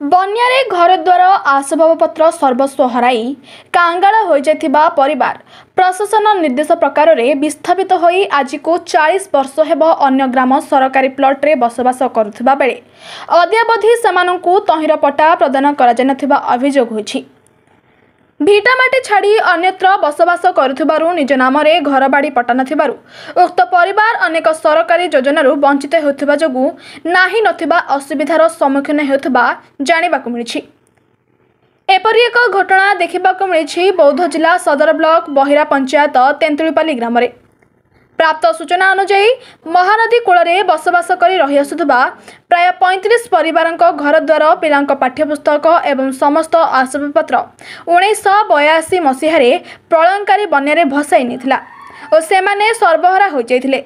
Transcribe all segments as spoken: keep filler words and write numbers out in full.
ବନ୍ୟାରେ ଘରଦ୍ୱାର ଆସବାବପତ୍ର ସର୍ବସ୍ୱ ହରାଇ କାଙ୍ଗାଳ ହୋଇଯାଇଥିବା ପରିବାର ପ୍ରଶାସନ ନିର୍ଦ୍ଦେଶ ପ୍ରକାରରେ ବିସ୍ଥାପିତ ହୋଇ ଆଜିକୁ ଚାଳିଶ ବର୍ଷ ହେବ ଅନ୍ୟ ଗ୍ରାମ ସରକାରୀ ପ୍ଲଟ୍ରେ ବସବାସ କରୁଥିବା ବେଳେ ଅଦ୍ୟାବଧି ସେମାନଙ୍କୁ ତହିଁର ପଟ୍ଟା ପ୍ରଦାନ କରାଯାଇନଥିବା ଅଭିଯୋଗ ହୋଇଛି। ଭିଟାମାଟି ଛାଡ଼ି ଅନ୍ୟତ୍ର ବସବାସ କରୁଥିବାରୁ ନିଜ ନାମରେ ଘରବାଡ଼ି ପଟ୍ଟା ନଥିବାରୁ ଉକ୍ତ ପରିବାର ଅନେକ ସରକାରୀ ଯୋଜନାରୁ ବଞ୍ଚିତ ହେଉଥିବା ଯୋଗୁଁ ନାହିଁ ନଥିବା ଅସୁବିଧାର ସମ୍ମୁଖୀନ ହେଉଥିବା ଜାଣିବାକୁ ମିଳିଛି। ଏପରି ଏକ ଘଟଣା ଦେଖିବାକୁ ମିଳିଛି ବୌଦ୍ଧ ଜିଲ୍ଲା ସଦର ବ୍ଲକ ବହିରା ପଞ୍ଚାୟତ ତେନ୍ତୁଳିପାଲି ଗ୍ରାମରେ। ପ୍ରାପ୍ତ ସୂଚନା ଅନୁଯାୟୀ ମହାନଦୀ କୂଳରେ ବସବାସ କରି ରହିଆସୁଥିବା ପ୍ରାୟ ପଇଁତିରିଶ ପରିବାରଙ୍କ ଘରଦ୍ୱାର, ପିଲାଙ୍କ ପାଠ୍ୟପୁସ୍ତକ ଏବଂ ସମସ୍ତ ଆସବାବପତ୍ର ଉଣେଇଶହ ବୟାଅଶୀ ମସିହାରେ ପ୍ରଳୟଙ୍କାରୀ ବନ୍ୟାରେ ଭସାଇ ନେଇଥିଲା ଓ ସେମାନେ ସର୍ବହରା ହୋଇଯାଇଥିଲେ।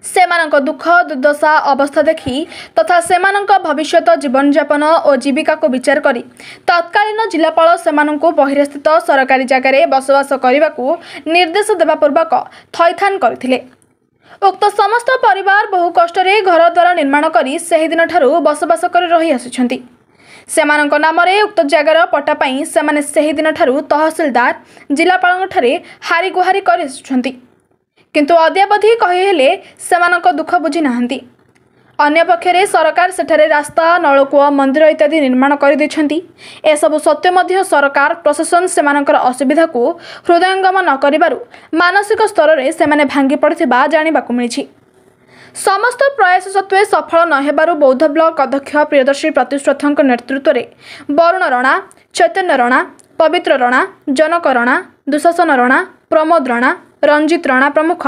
ସେମାନଙ୍କ ଦୁଃଖ ଦୁର୍ଦ୍ଦଶା ଅବସ୍ଥା ଦେଖି ତଥା ସେମାନଙ୍କ ଭବିଷ୍ୟତ ଜୀବନଯାପନ ଓ ଜୀବିକାକୁ ବିଚାର କରି ତତ୍କାଳୀନ ଜିଲ୍ଲାପାଳ ସେମାନଙ୍କୁ ବହିରାସ୍ଥିତ ସରକାରୀ ଜାଗାରେ ବସବାସ କରିବାକୁ ନିର୍ଦ୍ଦେଶ ଦେବା ପୂର୍ବକ ଥଇଥାନ କରିଥିଲେ। ଉକ୍ତ ସମସ୍ତ ପରିବାର ବହୁ କଷ୍ଟରେ ଘରଦ୍ୱାର ନିର୍ମାଣ କରି ସେହିଦିନଠାରୁ ବସବାସ କରି ରହି ଆସୁଛନ୍ତି। ସେମାନଙ୍କ ନାମରେ ଉକ୍ତ ଜାଗାର ପଟ୍ଟା ପାଇଁ ସେମାନେ ସେହିଦିନଠାରୁ ତହସିଲଦାର, ଜିଲ୍ଲାପାଳଙ୍କଠାରେ ହାରିଗୁହାରି କରି ଆସୁଛନ୍ତି, କିନ୍ତୁ ଅଦ୍ୟାବଧି କହିହେଲେ ସେମାନଙ୍କ ଦୁଃଖ ବୁଝି ନାହାନ୍ତି। ଅନ୍ୟପକ୍ଷରେ ସରକାର ସେଠାରେ ରାସ୍ତା, ନଳକୂଅ, ମନ୍ଦିର ଇତ୍ୟାଦି ନିର୍ମାଣ କରିଦେଇଛନ୍ତି। ଏସବୁ ସତ୍ତ୍ୱେ ମଧ୍ୟ ସରକାର ପ୍ରଶାସନ ସେମାନଙ୍କର ଅସୁବିଧାକୁ ହୃଦୟଙ୍ଗମ ନ କରିବାରୁ ମାନସିକ ସ୍ତରରେ ସେମାନେ ଭାଙ୍ଗି ପଡ଼ିଥିବା ଜାଣିବାକୁ ମିଳିଛି। ସମସ୍ତ ପ୍ରୟାସ ସତ୍ତ୍ୱେ ସଫଳ ନ ହେବାରୁ ବୌଦ୍ଧ ବ୍ଲକ ଅଧ୍ୟକ୍ଷ ପ୍ରିୟଦର୍ଶୀ ପ୍ରତିଶ୍ରଥଙ୍କ ନେତୃତ୍ୱରେ ବରୁଣ ରଣା, ଚୈତନ୍ୟ ରଣା, ପବିତ୍ର ରଣା, ଜନକ ରଣା, ଦୁଶାସନ ରଣା, ପ୍ରମୋଦ ରଣା, ରଞ୍ଜିତ ରଣା ପ୍ରମୁଖ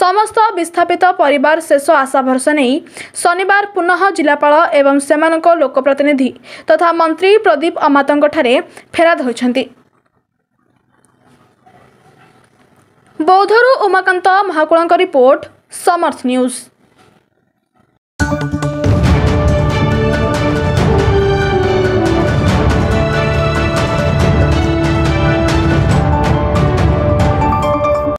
ସମସ୍ତ ବିସ୍ଥାପିତ ପରିବାର ଶେଷ ଆଶା ଭରସା ନେଇ ଶନିବାର ପୁନଃ ଜିଲ୍ଲାପାଳ ଏବଂ ସେମାନଙ୍କ ଲୋକପ୍ରତିନିଧି ତଥା ମନ୍ତ୍ରୀ ପ୍ରଦୀପ ଅମାତଙ୍କଠାରେ ଫେରାଦ ହୋଇଛନ୍ତି। ବୌଦ୍ଧରୁ ଉମାକାନ୍ତ ମହାକୁଳଙ୍କ ରିପୋର୍ଟ, ସମର୍ଥ ନ୍ୟୁଜ୍।